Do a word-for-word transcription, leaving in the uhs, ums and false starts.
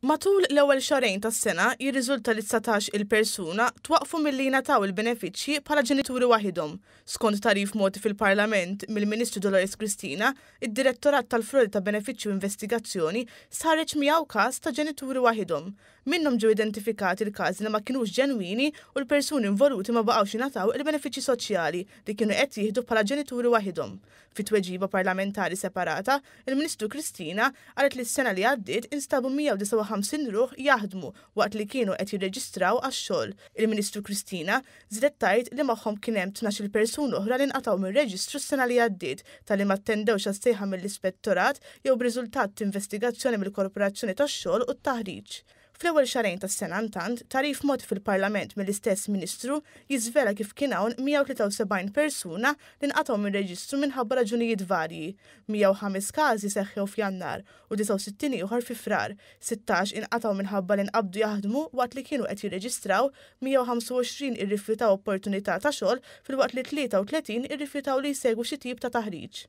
Matul l-ewwel xahrejn tas-sena jirriżulta li dsatax-il persuna twaqqfu milli jingħataw il-benefiċċji bħala ġenituri waħidhom. Skont tagħrif mogħti fil-Parlament mill-Ministru Dolores Cristina, id-Direttorat tal-Frodi ta' Benefiċċju u Investigazzjoni stħarreġ miegħu każ ta' ġenituri waħidhom. Minnhom ġew identifikati l-każi li ma kinux ġenwini u l-persuni involuti ma baqgħux jingħataw il-benefiċċji soċjali li kienu qed jieħdu bħala ġenituri waħidhom. Fi tweġiba parlamentari separata, il-Ministru Cristina qalet li s-sena li għaddiet instabu mija u disgħa u ħamsin ruħ jaħdmu waqt li kienu qed jirreġistraw għax-xogħol. Il-Ministru Cristina żiedet tgħid li magħhom kien hemm tnax-il persuna oħra li nqatgħu mir-reġistru s-sena li għaddiet talli ma attendewx għas-sejħa mill-ispettorat jew b'riżultat t'investigazzjoni mill-Korporazzjoni tax-Xogħol u t-Taħriġ. Fl-ewwel xahrejn tas-sena intant, tagħrif mogħti fil-Parlament mill-istess Ministru jiżvela kif kien hawn mija u tlieta u sebgħin persuna li nqatgħu mir-reġistru minħabba raġunijiet varji. Mija u ħames każi seħħew f'Jannar u disgħa u sittin ieħor fi Frar. Sittax inqatgħu minħabba li nqabdu jaħdmu waqt li kienu qed jirreġistraw, mija u ħamsa u għoxrin irrifjutaw opportunità ta' xogħol filwaqt li tlieta u tletin irrifjutaw li jsegwu xi tip ta' taħriġ.